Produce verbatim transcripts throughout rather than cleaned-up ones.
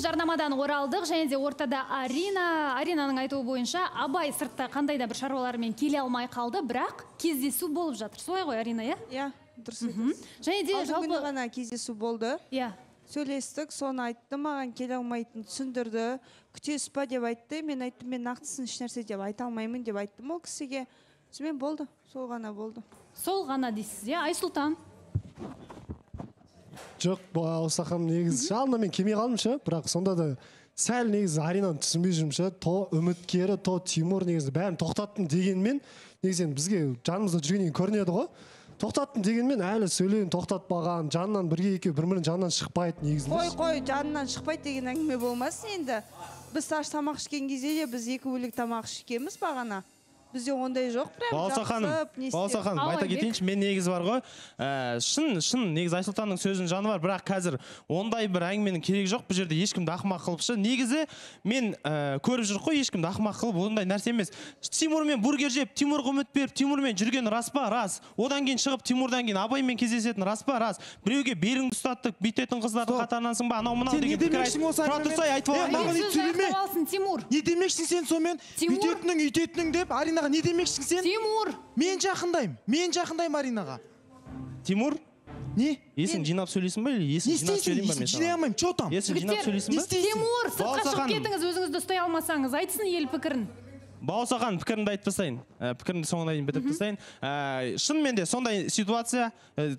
жарнамадан оралдық, және де ортада Арина. Аринаның айтуы бойынша, Абай сыртта қандай да бір шаруалармен келе алмай қалды, бірақ кездесу болып жатыр. Солай ғой, Арина, иә? Иә, дұрыс айтасыз. Және де жалпы күні ғана кездесу болды. Иә. Сөйлестік, соны айтты, маған келе алмайтын түсіндірді. Күтесіз ба деп айтты. Мен айттым, мен нақтысын еш нәрсе деп айта алмаймын деп айттым ол кісіге. Сонымен болды, сол ғана болды. Сол ғана дейсіз, иә? Айсұлтан. Жоқ, осы ақам негізі жалына мен келмей қалдым ше, бірақ сонда да сәл негізі Аринаны түсінбей жүрмін ше, то үміткері, то Тимур негізі бәрін тоқтаттым дегенмен, негізі бізге жанымызда жүргеннен көрінеді ғой. Тоқтаттым дегенмен әлі сөйлеуін тоқтатпаған, жанынан бірге екеу бір-бірінің жанынан шықпайды негізінде. Қой, қой, жанынан шықпайды деген әңгіме болмасын енді. Біз аш тамақ ішкен кезде де біз екі бөлек тамақ ішкенбіз бағана. Бізде ондай жоқ, прям Балса ханым, Балса ханым, айта кетейінші, мен негіз бар ғой. Шын, шын, негіз Айсұлтанның сөзінің жаны бар, бірақ қазір ондай бір әңгіменің керегі жоқ. Бұл жерде ешкімді ақымақ қылыпшы. Негізі мен көріп жүр ғой, ешкімді ақымақ қылып, ондай нәрсе емес. Тимурмен бургер жеп, Тимурға үміт беріп, Тимурмен жүрген рас па? Рас. Одан кейін шығып, Тимурдан кейін Абаймен кездесетін рас па? Рас. Біреуге беліңді ұстаттық, бүйтетін қыздардың қатарынансың ба? Анау мынау деген пікір айтып. Тұра тұрсай айтып алған. Не демекшің сен сонымен? Бүйтетінің, үйтетінің деп Аринаға не демекшің сен? Тимур! Мен жақындайым. Мен жақындайым Аринаға. Тимур? Не? Есін жинап сөйлесін ба? Есін жинап сөйлейін ба мен саған? Жинай алмайым, че там? Есін жинап сөйлесін ба? Тимур, сыртқа шығып кетіңіз, өзіңізді ұстай алмасаңыз. Айтсын ел пікірін. Балсахан пікірімді айтып тастайын. Пікірімді соңына дейін бітіп тастайын. Шынымен де сондай ситуация,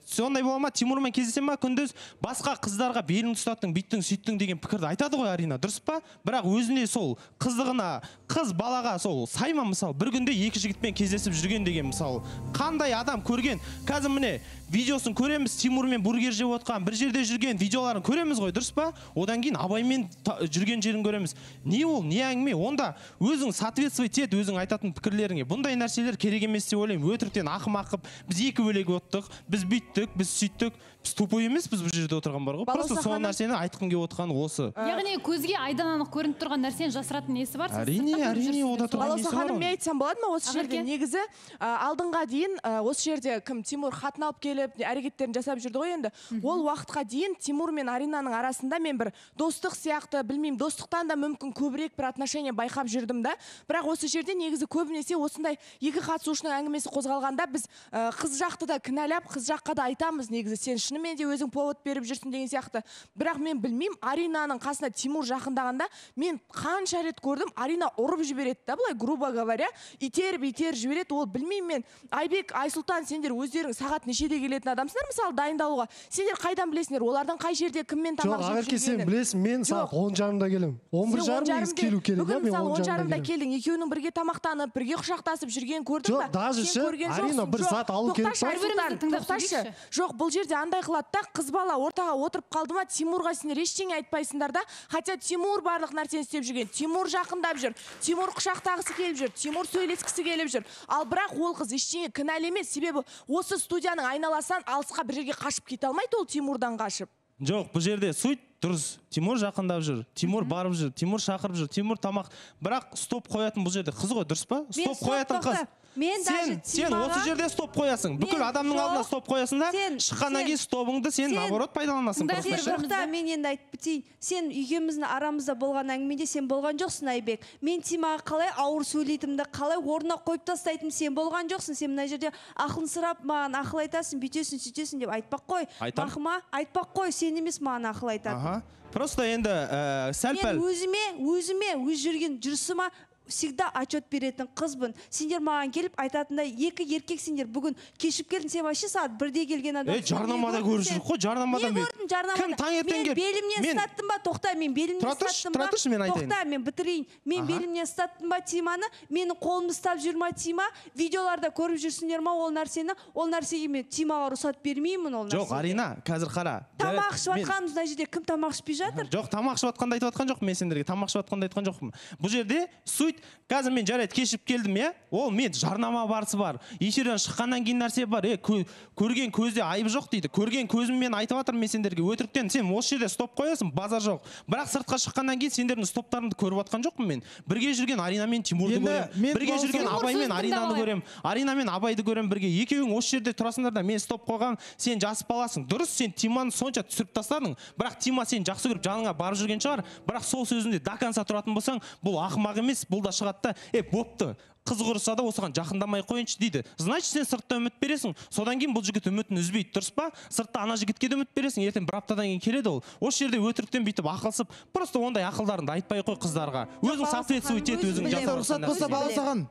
сондай бола ма, Тимурмен кездесе ма, күндіз басқа қыздарға белін ұстаттың, бүйттің, сөйттің деген пікірді айтады ғой Арина, дұрыс па? Бірақ өзіне сол қыздығына, қыз балаға сол сайма мысалы, бір күнде екі жігітпен кездесіп жүрген деген мысалы, қандай адам көрген? Қазір міне видеосын көреміз, Тимурмен бургер жеп отқан, бір жерде жүрген видеоларын көреміз ғой, дұрыс па? Одан кейін Абаймен жүрген жерін көреміз. Не ол, не әңгіме? Онда өзің соответствовать ет, өзің айтатын пікірлеріңе. Бұндай нәрселер керек емес деп ойлаймын. Өтіріктен ақымақ қып, біз екі бөлек оттық, біз бүйттік, біз сөйттік. Біз тупой емес, біз бұл жерде отырған бар ғой. Просто сол нәрсені айтқым келіп отырған осы. Яғни көзге айдан анық көрініп тұрған нәрсені жасыратын несі бар? Әрине, әрине, ода тұрған несі бар. Балауса ханым, мен айтсам болады ма осы жерде? Негізі алдыңға дейін осы жерде кім Тимур хатын алып келіп, әрекеттерін жасап жүрді ғой енді. Ол уақытқа дейін Тимур мен Аринаның арасында мен бір достық сияқты, білмеймін, достықтан да мүмкін көбірек бір отношение байқап жүрдім да. Бірақ осы жерде негізі көбінесе осындай екі қатысушының әңгімесі қозғалғанда біз қыз жақты да кінәлап, қыз жаққа да айтамыз негізі сен шынымен де өзің повод беріп жүрсің деген сияқты. Бірақ мен білмеймін, Аринаның қасына Тимур жақындағанда мен қанша рет көрдім, Арина ұрып жібереді да, былай грубо говоря, итеріп итеріп жібереді. Ол білмеймін мен. Айбек, Айсұлтан, сендер өздерің сағат нешеде келетін адамсыңдар мысалы дайындалуға. Сендер қайдан білесіңдер? Олардың қай жерде кіммен тамақ жеп жүргенін? Жоқ, сен білесің, мен сағат он жарымда келем. он бір жарым келу керек. Бүгін мысалы он жарымда келдің, екеуінің бірге тамақтанып, бірге құшақтасып жүрген көрдің ба? Жоқ, даже ше, Арина бір сағат алу керек па? Жоқ, бұл жерде андай қылады да, қыз бала ортаға отырып қалды ма, Тимурға сендер ештеңе айтпайсыңдар да, хотя Тимур барлық нәрсені істеп жүрген. Тимур жақындап жүр, Тимур құшақтағысы келіп жүр, Тимур сөйлескісі келіп жүр. Ал бірақ ол қыз ештеңе кінәлі емес, себебі осы студияның айналасынан алысқа бір жерге қашып кете алмайды ол Тимурдан қашып. Жоқ, бұл жерде суть дұрыс. Тимур жақындап жүр, Тимур барып жүр, Тимур шақырып жүр, Тимур тамақ. Бірақ стоп қоятын бұл жерде қыз ғой, дұрыс па? Стоп қоятын қыз. Сен, сен осы жерде стоп қоясың. Бүкіл адамның алдына стоп қоясың да, шыққаннан кейін стопыңды сен наоборот пайдаланасың. Мен енді айтып бітейін. Сен екеуміздің арамызда болған әңгімеде сен болған жоқсың, Айбек. Мен Тимаға қалай ауыр сөйлейтімді, қалай орнына қойып тастайтын сен болған жоқсың. Сен мына жерде ақылын сұрап маған ақыл айтасың, бүйтесің, сөйтесің деп айтпақ қой. Бақыма айтпақ қой, сен емес маған ақыл айтатын. Просто енді сәл-пәл. Мен өзіме, өзіме, өз жүрген жүрсіма всегда отчет беретін қызбын. Сендер маған келіп айтатындай, екі еркек сендер бүгін кешіп келдің, сен вообще сағат бірде келген адам. Е, жарнамада көріп жүр ғой, жарнамада. Не көрдің жарнамада? Кім таңертең келіп? Мен белімнен ұстаттым ба? Тоқта, мен белімнен ұстаттым ба? Тұратыршы, мен айтайын. Тоқта, мен бітірейін. Мен белімнен ұстаттым ба Тиманы? Менің қолымды ұстап жүр ма Тима? Видеоларда көріп жүрсіңдер ма ол нәрсені? Ол нәрсеге мен Тимаға рұқсат бермеймін ол нәрсеге. Жоқ, Арина, қазір қара. Тамақ ішіп жатқанымыз мына жерде кім тамақ ішпей жатыр? Жоқ, тамақ ішіп жатқанды айтып жатқан жоқпын мен сендерге. Тамақ ішіп жатқанды айтқан жоқпын. Бұл жерде суть, қазір мен жарайды кешіп келдім, е? Ол мен жарнама барысы бар. Эфирден шыққаннан кейін нәрсе бар. Е, көрген көзде айыбы жоқ дейді. Көрген көзіммен айтып жатырмын мен сендерге. Өтіріктен сен осы жерде стоп қоясың, базар жоқ. Бірақ сыртқа шыққаннан кейін сендердің стоптарыңды көріп жатқан жоқпын мен. Бірге жүрген Арина мен Тимурды көрем. Бірге жүрген Абай мен Аринаны көрем. Арина мен Абайды көрем бірге. Екеуің осы жерде тұрасыңдар да мен стоп қойғам, сен жас баласың. Дұрыс, сен Тиманы сонша бойынша түсіріп тастадың, бірақ Тима сен жақсы көріп жаныңа барып жүрген шығар, бірақ сол сөзінде до конца тұратын болсаң, бұл ақымақ емес, бұл да шығады да, е, бопты. Қыз құрыса да осыған жақындамай қойыншы дейді. Значит, сен сыртта үміт бересің. Содан кейін бұл жігіт үмітін үзбейді, дұрыс па? Сыртта ана жігітке де үміт бересің. Ертең бір аптадан кейін келеді ол. Осы жерде өтіріктен бүйтіп ақылсып, просто ондай ақылдарыңды айтпай қой қыздарға. Өзің соответствовать ет, өзің жасап. Рұқсат болса баласаған.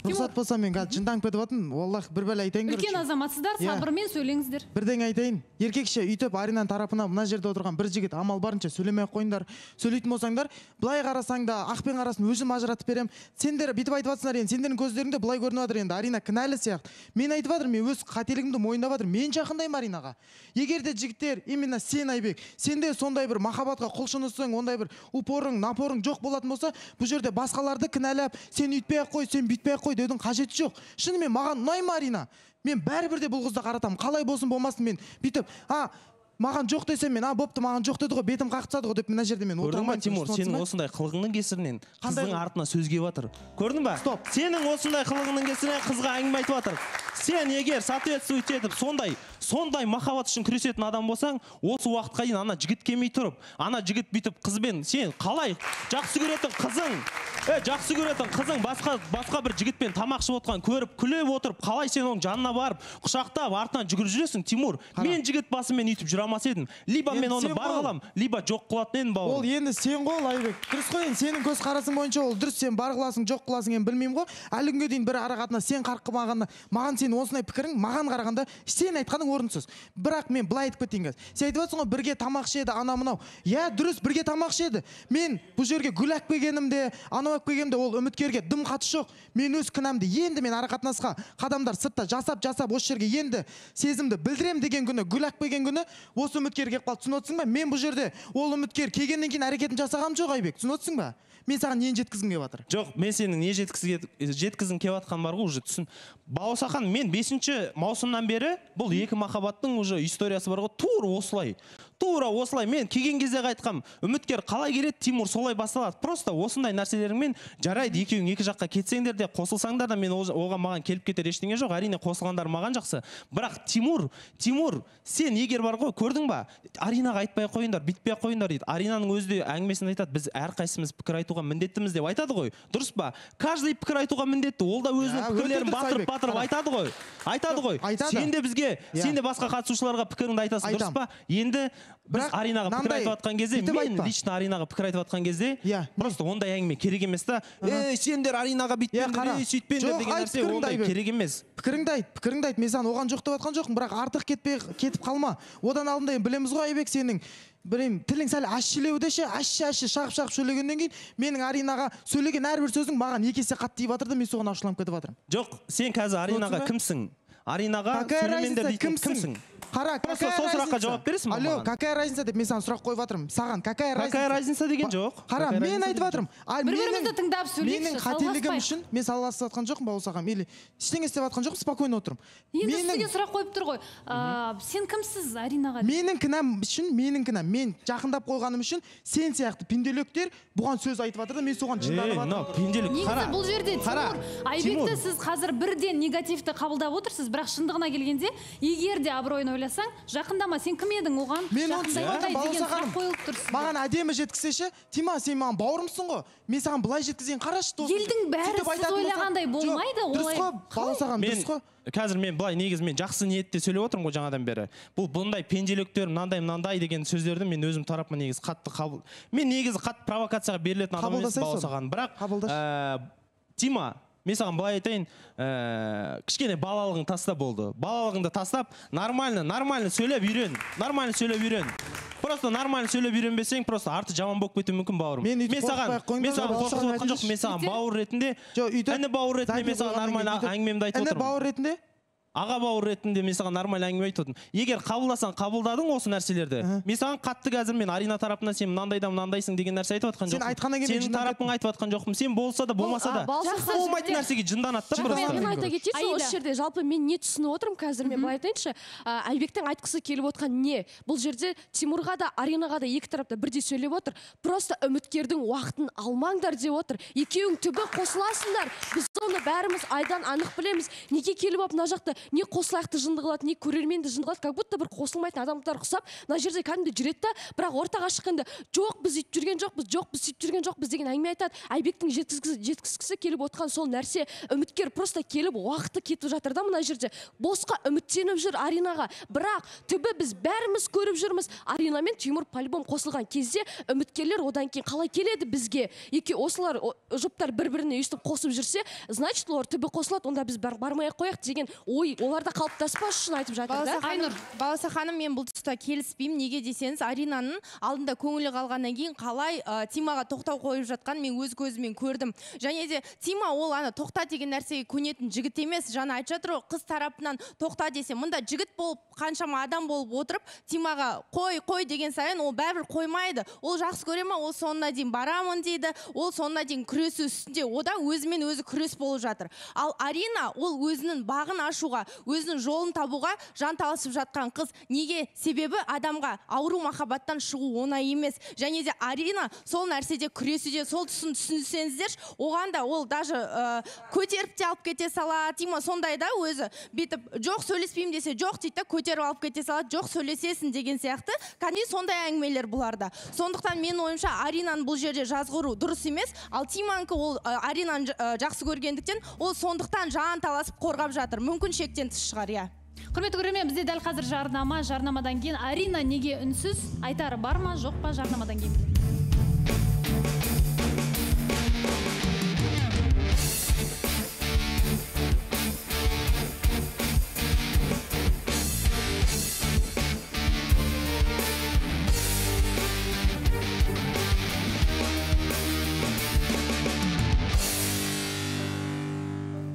Рұқсат болса мен қазір жынданып кетіп жатырмын. Валлах бір бәле айтайын. Үлкен азаматсыздар, сабырмен сөйлеңіздер. Бірден айтайын. Еркекше үйтіп Аринаның тарапына мына жерде отырған бір жігіт амал барынша сөйлемей ақ қойыңдар. Сөйлейтін болсаңдар, былай қарасаң да ақпен қарасын өзім ажыратып берем. Сендер бүйтіп айтып жатсыңдар енді, сендердің көздеріңде былай көрініп жатыр енді. Арина кінәлі сияқты. Мен айтып жатырмын, мен өз қателігімді мойындап жатырмын. Мен жақындаймын Аринаға. Егер де жігіттер, именно сен Айбек, сенде сондай бір махаббатқа құлшынысың, ондай бір упорың, напорың жоқ болатын болса, бұл жерде басқаларды кінәлап, сен үйтпей ақ қой, сен бүйтпей ақ қой деудің қажеті жоқ. Шынымен маған ұнайды Арина. Мен бәрібір де бұл қызды қаратамын. Қалай болсын болмасын мен бүйтіп, а маған жоқ десем мен, а бопты маған жоқ деді ғой, бетім қақтады ғой деп мына жерде мен отырмаймын. Тимур, сенің осындай қылығыңның кесірінен қыздың артына сөз келіп жатыр. Көрдің ба? Стоп. Сенің осындай қылығыңның кесірінен қызға әңгіме айтып жатыр. Сен егер соответствовать етіп, сондай, сондай махаббат үшін күресетін адам болсаң, осы уақытқа дейін ана жігіт келмей тұрып, ана жігіт бүйтіп қызбен, сен қалай жақсы көретін қызың, е, жақсы көретін қызың басқа басқа бір жігітпен тамақ ішіп отқан көріп, күліп отырып, қалай сен оның жанына барып, құшақтап, артынан жүгіріп жүресің, Тимур? Мен жігіт басымен үйтіп жүре алмас едім. Либо мен оны бар қылам, либо жоқ қылатын едім бауырым. Ол енді сен ғой Айбек. Дұрыс қой, енді сенің көз қарасың бойынша ол дұрыс, сен бар қыласың, жоқ қыласың, мен білмеймін ғой. Әлі күнге дейін бір арақатына сен қарқымағанда, маған сен осындай пікірің, маған қарағанда сен айтқаның орынсыз. Бірақ мен былай айтып кетейін қазір. Сен айтып жатсың ғой, бірге тамақ ішеді, ана мынау. Иә, дұрыс, бірге тамақ ішеді. Мен бұл жерге гүл алып келгенімде, анау алып келгенімде ол үміткерге дым қатысы жоқ. Мен өз кінәмді енді мен арақатынасқа қадамдар сыртта жасап жасап осы жерге енді сезімді білдірем деген күні, гүл алып келген күні осы үміткер келіп қалды. Түсініп отырсың ба? Мен бұл жерде ол үміткер келгеннен кейін әрекетін жасағам жоқ Айбек. Түсініп отырсың ба? Мен саған нені жеткізгім келіп жатыр? Жоқ, мен сенің не жеткізгің келіп жатқан бар ғой, уже түсін. Бауырсахан, мен бесінші маусымнан бері бұл екі махаббаттың уже историясы бар ғой, тура осылай. Тура осылай. Мен келген кезде айтқам, үміткер қалай келеді, Тимур солай басталады. Просто осындай нәрселеріңмен жарайды, екеуің екі жаққа кетсеңдер де, қосылсаңдар да, мен оған маған келіп кетер ештеңе жоқ. Әрине қосылғандар маған жақсы. Бірақ Тимур, Тимур, сен егер бар ғой, көрдің ба? Аринаға айтпай қойыңдар, бітпей қойыңдар дейді. Аринаның өзі де әңгімесін айтады, біз әрқайсымыз пікір айтуға міндеттіміз деп айтады ғой. Дұрыс па? Каждый пікір айтуға міндетті. Ол да өзінің пікірлерін батырып-батырып айтады ғой. Айтады ғой. Сен де бізге, сен де басқа қатысушыларға пікіріңді айтасың, дұрыс па? Енді біз Аринаға пікір айтып жатқан кезде, мен лично Аринаға пікір айтып жатқан кезде, просто ондай әңгіме керек емес та. Ей, сендер Аринаға бүйтпеңдер, ей, сөйтпеңдер деген нәрсе ондай керек емес. Пікіріңді айт, пікіріңді айт. Мен саған оған жоқ деп жатқан жоқпын, бірақ артық кетпей кетіп қалма. Одан алдында білеміз ғой Айбек, сенің білем, тілің сәл ащылеуде ше, ащы-ащы шағып-шағып сөйлегеннен кейін, менің Аринаға сөйлеген әрбір сөзің маған екі есе қатты тиіп жатыр да, мен соған ашуланып кетіп жатырмын. Жоқ, сен қазір Аринаға кімсің? Аринаға сөйлемендер дейтін кімсің? Қара, просто сол сұраққа жауап бересің ба? Алло, какая разница деп мен саған сұрақ қойып жатырмын. Саған какая разница? Какая разница деген жоқ. Қара, мен айтып жатырмын. Бір-бірімізді тыңдап сөйлейікші, менің қателігім үшін мен салғыласып жатқан жоқпын Бауырсағам, или ештеңе істеп жатқан жоқпын, спокойно отырмын. Енді сізге сұрақ қойып тұр ғой. Сен кімсіз Аринаға? Менің кінәм үшін, менің кінәм. Мен жақындап қойғаным үшін сен сияқты пенделектер бұған сөз айтып жатыр да, мен соған жынданып жатырмын. Негізі бұл жерде Тимур, Айбекті сіз қазір бірден негативті қабылдап отырсыз, бірақ шындығына келгенде, егер де абыройын ойласаң, жақындама, сен кім едің оған? Мен маған әдемі жеткізсеші, Тима, сен маған бауырымсың ғой. Мен саған былай жеткізген қарашы, досым. Елдің бәрі сіз ойлағандай болмайды, олай. Дұрыс қой, Бауырсағам, дұрыс қой. Қазір мен былай негіз мен жақсы ниетте сөйлеп отырмын ғой жаңадан бері. Бұл бұндай пенделіктер, мынандай мынандай деген сөздерді мен өзім тарапыма негіз қатты қабыл. Мен негізі қатты провокацияға берілетін адам емес Бауырсаған. Бірақ Тима, мен саған былай айтайын, кішкене балалығың таста болды. Балалығыңды тастап, нормально, нормально сөйлеп үйрен. Нормально сөйлеп үйрен. Просто нормально сөйлеп үйренбесең, просто арты жаман болып кетуі мүмкін бауырым. Мен саған, мен саған қорқытып отқан жоқпын. Мен саған бауыр ретінде, әні бауыр ретінде мен саған нормально әңгімемді айтып отырмын. Әні бауыр ретінде? Аға бауыр ретінде мен саған нормально әңгіме айтып отырмын. Егер қабылдасаң, қабылдадың осы нәрселерді. Мен саған қатты қазір мен Арина тарапынан сен мынандайда мынандайсың деген нәрсе айтып жатқан жоқпын. Сен айтқаннан кейін сенің тарапың айтып жатқан жоқпын. Сен болса да болмаса да болмайтын нәрсеге жынданады да просто. Мен айта кетейінші, осы жерде жалпы мен не түсініп отырмын қазір, мен былай айтайыншы, Айбектің айтқысы келіп отқан не? Бұл жерде Тимурға да Аринаға да екі тарапта бірдей сөйлеп отыр. Просто үміткердің уақытын алмаңдар деп отыр. Екеуің түбі қосыласыңдар. Біз оны бәріміз айдан анық білеміз. Неге келіп алып мына жақта не қосылаяқты жынды қылады, не көрерменді жынды қылады, как будто бір қосылмайтын адамдар ұқсап мына жерде кәдімгі жүреді да, бірақ ортаға шыққанда жоқ біз үйтіп жүрген жоқпыз, жоқ біз сөйтіп жүрген жоқпыз деген әңгіме айтады. Айбектің жеткізгісі жеткізгісі келіп отқан сол нәрсе, үміткер просто келіп уақыты кетіп жатыр да мына жерде. Босқа үміттеніп жүр Аринаға, бірақ түбі біз бәріміз көріп жүрміз. Арина мен Тимур по-любому қосылған кезде үміткерлер одан кейін қалай келеді бізге? Екі осылар жұптар бір-біріне өйстіп қосып жүрсе, значит олар түбі қосылады, онда біз бармай-ақ қояйық деген ой оларда қалыптаспас үшін айтып жатыр да. Айнұр, Баласа ханым, мен бұл тұста келіспеймін. Неге десеңіз, Аринаның алдында көңілі қалғаннан кейін қалай Тимаға тоқтау қойып жатқан мен өз көзіммен көрдім. Және де Тима ол ана тоқта деген нәрсеге көнетін жігіт емес. Жаңа айтып жатыр ғой, қыз тарапынан тоқта десе, мында жігіт болып қаншама адам болып отырып, Тимаға қой, қой деген сайын ол бәрібір қоймайды. Ол жақсы көре ма, ол соңына дейін барамын дейді. Ол соңына дейін күресу үстінде, ода өзімен өзі күрес болып жатыр. Ал Арина ол өзінің бағын ашуға, өзінің жолын табуға жанталасып жатқан қыз. Неге? Себебі адамға ауру махаббаттан шығу оңай емес. Және де Арина сол нәрседе күресуде, сол тұсын түсінсеңіздер, оған да ол даже ә, көтеріп те алып кете салады. Тима сондай да өзі бүйтіп жоқ сөйлеспеймін десе жоқ дейді, көтеріп алып кете салады, жоқ сөйлесесің деген сияқты. Кәдімгі сондай әңгімелер бұларда. Сондықтан мен ойымша Аринаның бұл жерде жазғыру дұрыс емес. Ал Тиманікі ол Аринаны жақсы көргендіктен ол сондықтан жан таласып қорғап жатыр. Мүмкін шектен тыс шығар, иә. Құрметті көрермен, бізде дәл қазір жарнама, жарнамадан кейін Арина неге үнсіз, айтары бар ма, жоқ па, жарнамадан кейін.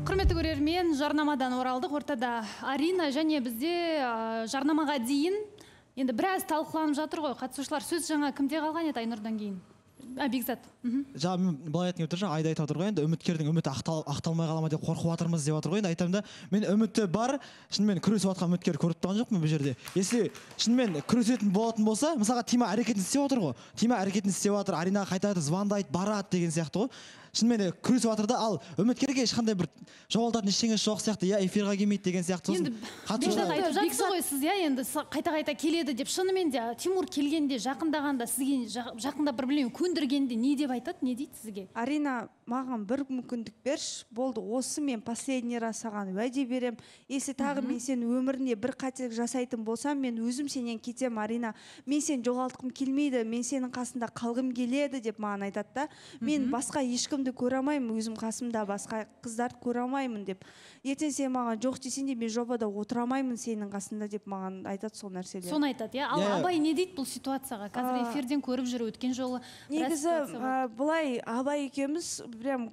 Құрметті көрермен, жарнамадан оралдық. Ортада Арина және бізде жарнамаға дейін енді біраз талқыланып жатыр ғой. Қатысушылар сөз жаңа кімде қалған еді Айнұрдан кейін? Бекзат. Жаңа мен былай айтып отыр, жаңа Айда айтып отыр ғой, енді үміткердің үміті ақталмай қала ма деп қорқып жатырмыз деп отыр ғой. Енді айтамын да, мен үміті бар, шынымен күресіп жатқан үміткер көріп тұрған жоқпын бұл жерде. Если шынымен күресетін болатын болса, мысалға Тима әрекетін істеп отыр ғой. Тима әрекетін істеп отыр, Аринаға қайтады, звондайды, барады деген сияқты ғой. Шынымен күресіп жатыр да, ал үміткерге ешқандай бір жоғалтатын ештеңесі жоқ сияқты, я эфирға келмейді деген сияқты. Енді Бекзат айтып жатсыз ғой сіз, иә, енді қайта-қайта келеді деп. Шынымен де Тимур келгенде, жақындағанда, сізге жақында бір білем көндіргенде не деп айтады, не дейді сізге? Арина, маған бір мүмкіндік берші, болды, осы мен последний раз саған уәде берем. Если тағы мен сен өмірінде бір қателік жасайтын болсам, мен өзім сенен кетем, Арина. Мен сен жоғалтқым келмейді, мен сенің қасында қалғым келеді деп маған айтады да. Мен басқа ешкімді көре алмаймын, өзім қасымда басқа қыздарды көре алмаймын деп. Ертең сен маған жоқ десең де мен жобада отыра алмаймын сенің қасында деп маған айтады сол нәрселер. Соны айтады, иә. Ал Абай не дейді бұл ситуацияға? Қазір эфирден көріп жүр, өткен жолы. Негізі былай Абай екеуміз прям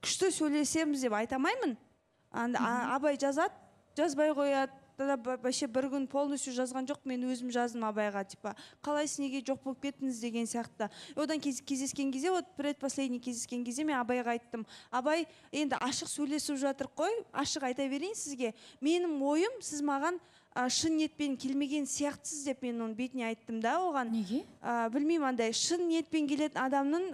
күшті сөйлесеміз деп айтамаймын. Абай жазады, жазбай қояды. Вообще бір күн полностью жазған жоқ, мен өзім жаздым Абайға, типа, қалайсыз, неге жоқ болып кеттіңіз деген сияқты. Одан кездескен кезде, вот предпоследний кездескен кезде мен Абайға айттым. Абай, енді ашық сөйлесіп жатыр қой, ашық айта берейін сізге. Менің ойым, сіз маған шын ниетпен келмеген сияқтысыз деп мен оның бетіне айттым да оған. Неге? Білмеймін, андай шын ниетпен келетін адамның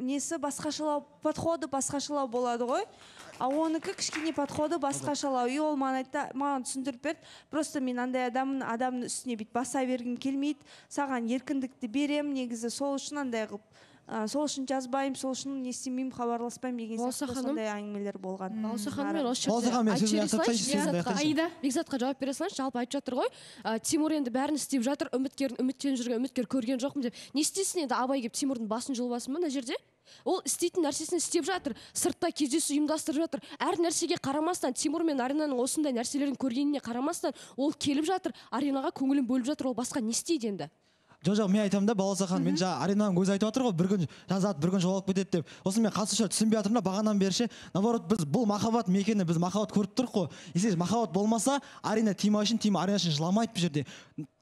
несі басқашалау, подходы басқашалау болады ғой. А оныкі кішкене подходы басқашалау. И ол маған түсіндіріп берді. Просто мен андай адамның адамның үстіне бит баса бергім келмейді. Саған еркіндікті берем, негізі сол үшін андай қылып. Сол үшін жазбайым, сол үшін не істемеймін, хабарласпайым деген сияқты сондай әңгімелер болған. Балса ханым, мен осы жерде Айда Бекзатқа жауап бере салайыншы. Жалпы айтып жатыр ғой, Тимур енді бәрін істеп жатыр, үміткерін үміттеніп жүрген үміткер көрген жоқпын деп. Не істесін енді Абай келіп Тимурдың басын жұлбасын ба мына жерде? Ол істейтін нәрсесін істеп жатыр, сыртта кездесу ұйымдастырып жатыр. Әр нәрсеге қарамастан, Тимур мен Аринаның осындай нәрселерін көргеніне қарамастан, ол келіп жатыр, Аринаға көңілін бөліп жатыр, ол басқа не істейді енді? Жоқ, мен айтамын да, Баласа ханым, мен жаңа Аринаның өзі айтып жатыр ғой, бір күн жазады, бір күн жоғалып кетеді деп. Осы мен қатысушылар түсінбей жатырмын да, бағанан бері наоборот, біз бұл махаббат мекені, біз махаббат көріп тұрық қой. Если махаббат болмаса, Арина Тима үшін, Тима Арина үшін жыламайды бұл жерде.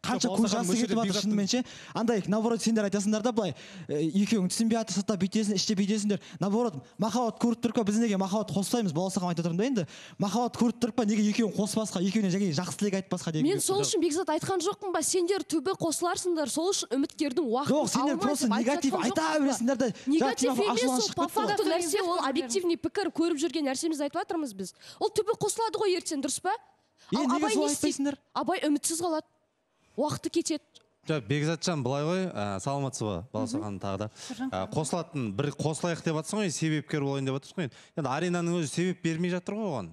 Қанша көз жасы кетіп жатыр шынымен ше. Андай, наоборот, сендер айтасыңдар да былай, екеуің түсінбей жатыр, сыртта бүйтесің, іште бүйтесіңдер. Наоборот, махаббат көріп тұрық па, біз неге махаббат қоспаймыз? Баласа ханым айтып отырмын да енді. Махаббат көріп тұрық па, неге екеуің қоспасқа, екеуіне жаңа жақсы тілек айтпасқа деген. Мен сол үшін Бекзат айтқан жоқпын ба, сендер түбі қосыларсыңдар, сол үшін үміткердің уақытын жоқ, сендер просто негатив айта бересіңдер да. Негатив емес, ол по факту нәрсе, ол объективный пікір, көріп жүрген нәрсемізді айтып жатырмыз біз. Ол түбі қосылады ғой ертең, дұрыс па? Е, Ал неге Абай солай не істейді? айтпайсыңдар? Абай үмітсіз қалады. Уақыты кетеді. жоқ бекзатжан былай ғой ә, саламатсыз ба балауса ханым тағы да ә, қосылатын бір қосылайық деп жатсың ғой себепкер болайын деп жатырсың ғой енді аринаның өзі себеп бермей жатыр ғой оған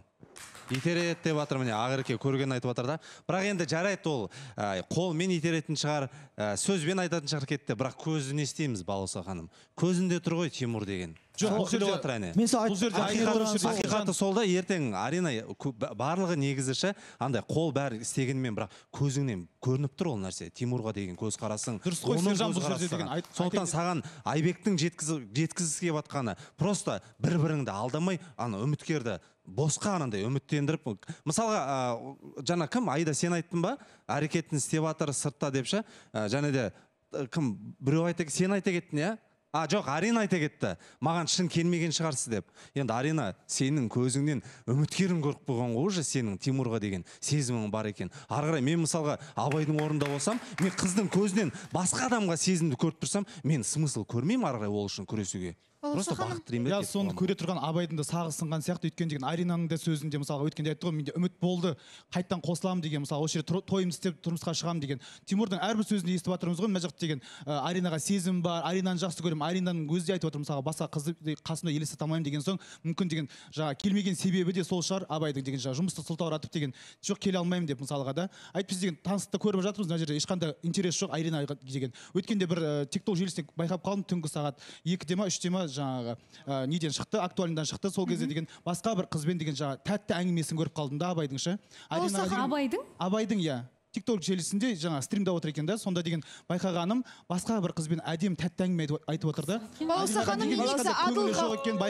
итереді деп жатыр міне ақерке көрген айтып жатыр да бірақ енді жарайды ол ә, қолмен итеретін шығар ә, сөзбен айтатын шығар кетті бірақ көзі не істейміз балауса ханым көзінде тұр ғой Тимур деген Жоқ, бұл жерде- мен сол айт- ақиқаты ақиқаты сол да ертең Арина кө- барлығы негізі ше андай қол бәрі істегенмен бірақ көзіңнен көрініп тұр ол нәрсе Тимурға деген көзқарасың Дұрыс қой, оның Сержан, бұл көзқарасы жерде деген саған. айт- сондықтан айта- саған Айбектің жеткізі- жеткізгісі келіп жатқаны просто бір біріңді алдамай ана үміткерді босқа анандай үміттендіріп мысалға ә, жаңа кім Айда сен айттың ба әрекетін істеп жатыр сыртта деп ше ә, және де ә, кім біреу айта сен айта кеттің иә А, жоқ, Арина айта кетті. Маған шын келмеген шығарсыз деп. Енді Арина, сенің көзіңнен үміткерін көріп қойған ғой уже сенің Тимурға деген сезімің бар екен. Ары қарай мен мысалға Абайдың орнында болсам, мен қыздың көзінен басқа адамға сезімді көріп тұрсам, мен смысл көрмеймін ары қарай ол үшін күресуге. Просто бақыт тілеймін. Я соны көре тұрған Абайдың да сағы сынған сияқты, өйткені деген Аринаның да сөзінде мысалға өткенде айтты ғой, менде үміт болды, қайттан қосыламын деген, мысалы осы жерде тойымды істеп тұрмысқа шығамын деген. Тимурдың әрбір сөзінде естіп жатырмыз ғой, мына жақта деген Аринаға сезім бар, Аринаны жақсы көремін, Аринаның өзі де айтып отыр мысалға басқа қызды қасымда елестете алмаймын деген соң, мүмкін деген жаңа келмеген себебі де сол шығар Абайдың деген жаңа жұмысты сылтауратып деген жоқ келе алмаймын деп мысалға да. Айтып біз деген таныстықты көріп жатырмыз, мына жерде ешқандай интерес жоқ Аринаға деген. Өткенде бір TikTok желісінде байқап қалдым, түнгі сағат екіде ма үште ма жаңағы ә, неден шықты, актуальндан шықты, сол кезде деген басқа бір қызбен деген жаңа тәтті әңгімесін көріп қалдым да Абайдың ше. Абайдың? Абайдың, иә. TikTok желісінде жаңа стримда отыр екен да, сонда деген байқағаным басқа бір қызбен әдем тәтті әңгіме айтып отыр да. Балауса ханым негізі адылға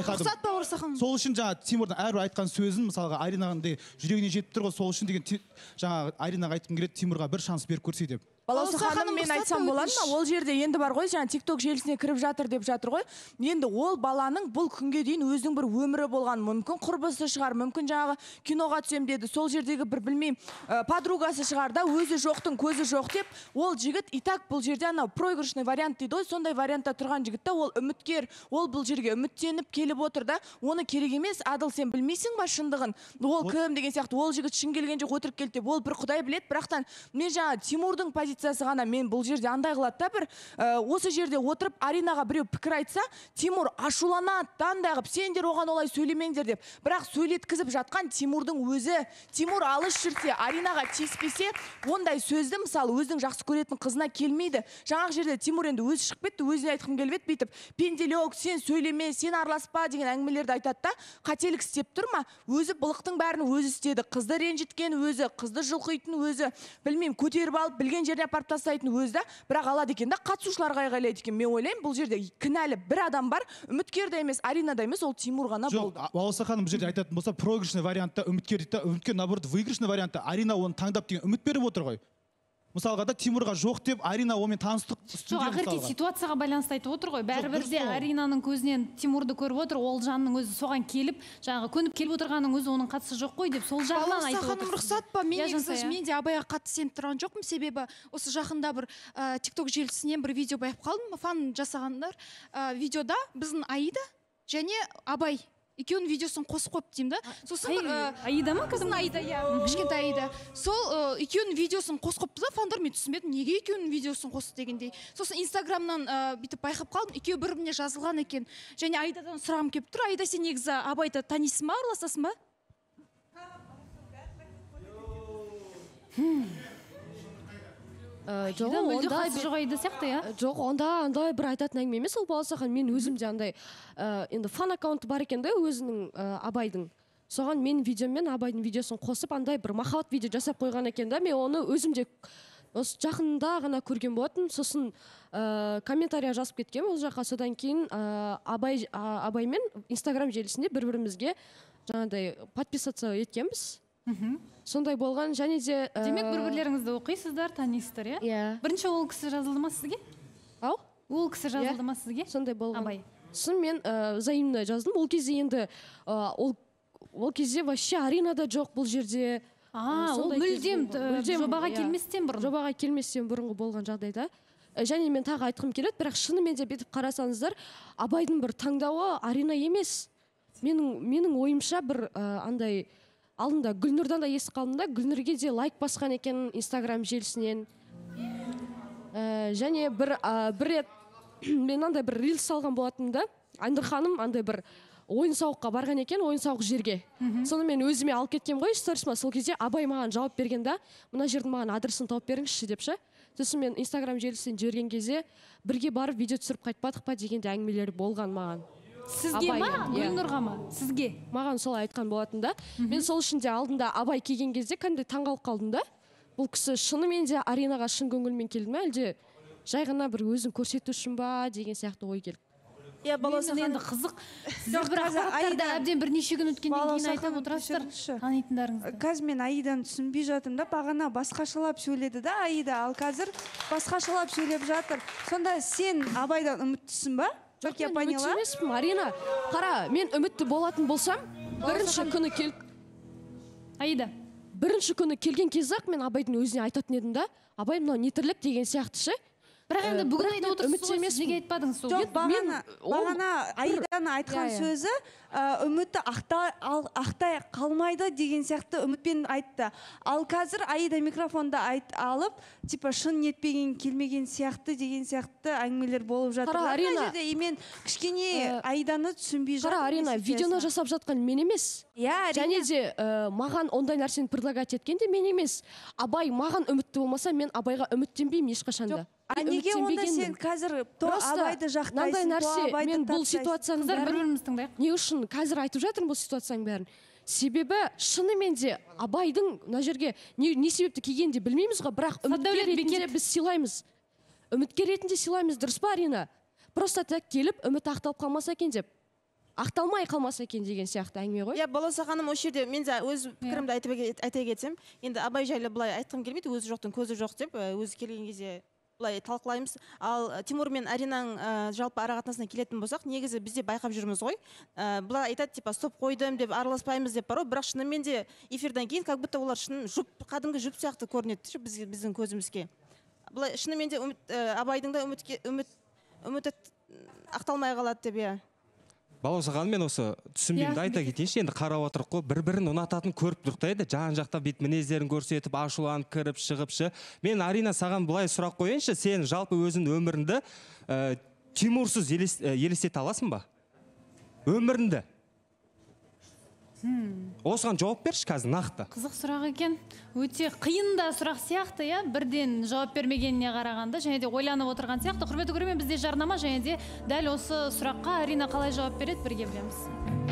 рұқсат па Орса ханым? Сол үшін жаңа Тимурдың әрбір айтқан сөзін мысалға Аринағандай жүрегіне жетіп тұр ғой, сол үшін деген жаңа Аринаға айтқым келеді, Тимурға бір шанс беріп көрсе деп. Балауса ханым, мен айтсам болады ма? Ол жерде енді бар ғой, жаңа TikTok желісіне кіріп жатыр деп жатыр ғой. Енді ол баланың бұл күнге дейін өзінің бір өмірі болған, мүмкін құрбысы шығар, мүмкін жаңағы киноға түсем деді. Сол жердегі бір білмеймін, подругасы шығар да, өзі жоқтың көзі жоқ деп, ол жігіт и так бұл жерде анау проигрышный вариант дейді ғой, сондай вариантта тұрған жігіт та, ол үміткер, ол бұл жерге үміттеніп келіп отыр да, оны керек емес, Адыл сен білмейсің ба шындығын? Ол кім деген сияқты, ол жігіт шын келген жоқ отырып келді деп, ол бір Құдай біледі, бірақтан мен жаңа Тимурдың позициясы ғана мен бұл жерде андай қылады да, бір осы жерде отырып Аринаға біреу пікір айтса, Тимур ашуланады, андай қылып, сендер оған олай сөйлемеңдер деп. Бірақ сөйлеткізіп жатқан Тимурдың өзі. Тимур алыс жүрсе, Аринаға тиіспесе, ондай сөзді мысалы өзінің жақсы көретін қызына келмейді. Жаңағы жерде Тимур енді өзі шығып кетті, өзіне айтқым келіп еді, бүйтіп, пенделек, сен сөйлеме, сен араласпа деген әңгімелерді айтады да, қателік істеп тұр ма? Өзі былықтың бәрін өзі істеді. Қызды ренжіткен өзі, қызды жұлқитын өзі, білмеймін, көтеріп алып, білген жеріне апарып тастайтын өзі да, бірақ алады екен да, қатысушыларға айғайлайды екен. Мен ойлаймын, бұл жерде кінәлі бір адам бар, үміткер де емес, Арина да емес, ол Тимур ғана болды. Жоқ, Балауса ханым бұл жерде айтатын болса, проигрышный вариантта үміткер дейді, үміткер наоборот выигрышный вариантта Арина оны таңдап деген үміт беріп отыр ғой. Мысалға да Тимурға жоқ деп, Арина онымен таныстық жоқ, ақырки ситуацияға байланысты айтып отыр ғой. Бәрібір де Аринаның көзінен Тимурды көріп отыр, ол жанның өзі соған келіп, жаңағы көніп келіп отырғанның өзі оның қатысы жоқ қой деп, сол жағынан айтып отыр. Рұқсат па? Мен негізі мен де Абайға қатты сеніп тұрған жоқпын, себебі осы жақында бір TikTok желісінен бір видео байқап қалдым, фан жасағандар. Видеода біздің Аида және Абай екеуінің видеосын қосып қойып деймін да. Сосын Аида ма? Біздің Аида, иә, кішкентай Аида. Сол екеуінің видеосын қосып қойыпты да, фандар, мен түсінбедім, неге екеуінің видеосын қосты дегендей. Сосын Инстаграмнан бүйтіп байқап қалдым, екеуі бір-біріне жазылған екен. Және Аидадан сұрағым келіп тұр, Аида, сен негізі Абайды танисың ба, араласасың ба? Жоқ, онда жоқ Аида сияқты, иә? Жоқ, онда андай бір айтатын әңгіме емес, ол Балауса ханым, мен өзім де андай енді фан аккаунты бар екен да өзінің Абайдың. Соған мен видеомен Абайдың видеосын қосып, андай бір махаббат видео жасап қойған екен да, мен оны өзім де осы жақында ғана көрген болатын. Сосын комментария жазып кеткен ол жаққа, содан кейін Абай мен Инстаграм желісінде бір-бірімізге жаңағыдай подписаться еткенбіз. Сондай болған, және де демек бір-бірлеріңізді оқисыздар, танисыздар, иә? Иә. Бірінші ол кісі жазылды ма сізге? Ау? Ол кісі жазылды ма сізге? Сондай болған. Абай. Сосын мен взаимно жаздым. Ол кезде енді ол кезде вообще Арина да жоқ бұл жерде. А, ол мүлдем жобаға келместен бұрын. Жобаға келместен бұрынғы болған жағдайда. Және мен тағы айтқым келеді, бірақ шынымен де бетіп қарасаңыздар, Абайдың бір таңдауы Арина емес. Менің менің ойымша бір андай алдында Гүлнұрдан да естіп қалдым да, Гүлнұрге де лайк басқан екен Инстаграм желісінен. Ә, және бір ә, бір рет мен андай бір рилс салған болатынмын да, Айнұр ханым андай бір ойын сауыққа барған екен, ойын сауық жерге. Соны мен өзіме алып кеткен ғой, сторисыма. Сол кезде Абай маған жауап берген да, мына жердің маған адресін тауып беріңізші деп ше. Сосын мен Инстаграм желісінен жіберген кезде бірге барып видео түсіріп қайтпадық па дегенде әңгімелер болған маған. Сізге ма, Гүлнұрға ма? Сізге? Маған солай айтқан болатын да. Мен сол үшін де алдында Абай келген кезде кәдімгідей таңғалып қалдым да. Бұл кісі шынымен де Аринаға шын көңілмен келді ме, әлде жай ғана бір өзін көрсету үшін ба деген сияқты ой келді. Иә, баласы енді қызық. Сіздер бір ақпараттарды әбден бірнеше күн өткеннен кейін айтып отырасыздар танитындарыңызды. Қазір мен Аиданы түсінбей жатырмын да, бағана басқашалап сөйледі да Аида, ал қазір басқашалап сөйлеп жатыр. Сонда сен Абайдан үміттісің ба? Жоқ, мен үмітті емеспін, Арина. Қара, мен үмітті болатын болсам, бірінші күні кел... Аида. Бірінші күні келген кезде-ақ мен Абайдың өзіне айтатын едім да, Абай мынау не тірлік деген сияқты ше. Бірақ енді бүгін айтып отырсыз ғой, сіз неге айтпадыңыз сол? Жоқ, бағана Аиданы айтқан сөзі үмітті ақтай қалмайды деген сияқты үмітпен айтты. Ал қазір Аида микрофонды алып, типа шын нетпеген келмеген сияқты деген сияқты әңгімелер болып жатыр. Қара, Арина. Мен кішкене Аиданы түсінбей жатыр. Қара, Арина, видеоны жасап жатқан мен емес. Және де маған ондай нәрсені предлагать еткен де мен емес. Абай маған үмітті болмаса, мен Абайға үміттенбеймін ешқашанда. А неге онда сен қазір то Абайды жақтайсың, то Абайды тастайсың? бір-бірімізді тыңдайық. Не үшін қазір айтып жатырмын бұл ситуацияның бәрін? Себебі шынымен де Абайдың мына жерге не себепті келгенін де білмейміз ғой, бірақ үміткер ретінде біз сыйлаймыз. Үміткер ретінде сыйлаймыз, дұрыс па, Арина? Просто так келіп үміт ақталып қалмаса екен деп. Ақталмай қалмаса екен деген сияқты әңгіме ғой. Иә, Балауса ханым, осы жерде мен де өз пікірімді айта кетсем, енді Абай жайлы былай айтқым келмейді, өзі жоқтың көзі жоқ деп, өзі келген кезде былай талқылаймыз. Ал Тимур мен Аринаның жалпы ара қатынасына келетін болсақ, негізі бізде байқап жүрміз ғой. Бұлар айтады, типа, стоп қойдым деп араласпаймыз деп бар ғой, бірақ шынымен де эфирдан кейін как будто олар шын жұп, қадімгі жұп сияқты көрінеді біздің көзімізге. Бұлай шынымен де Абайдың да үміті ақталмай қалады деп, иә. Балауса ханым, мен осы түсінбеймді айта кетейінші, енді қарап отырық қой, бір-бірін ұнататын көріп тұрқ та еді, жан жақта бет мінездерін көрсетіп, ашуланып кіріп шығыпшы. Мен Арина саған былай сұрақ қойыншы, сен жалпы өзің өміріңді Тимурсыз елестете аласың ба? Өміріңді. Осыған жауап берші қазір нақты. Қызық сұрақ екен. Өте қиын да сұрақ сияқты, иә, бірден жауап бермегеніне қарағанда, және де ойланып отырған сияқты. Құрметті көрермен, бізде жарнама, және де дәл осы сұраққа Арина қалай жауап береді, бірге білеміз.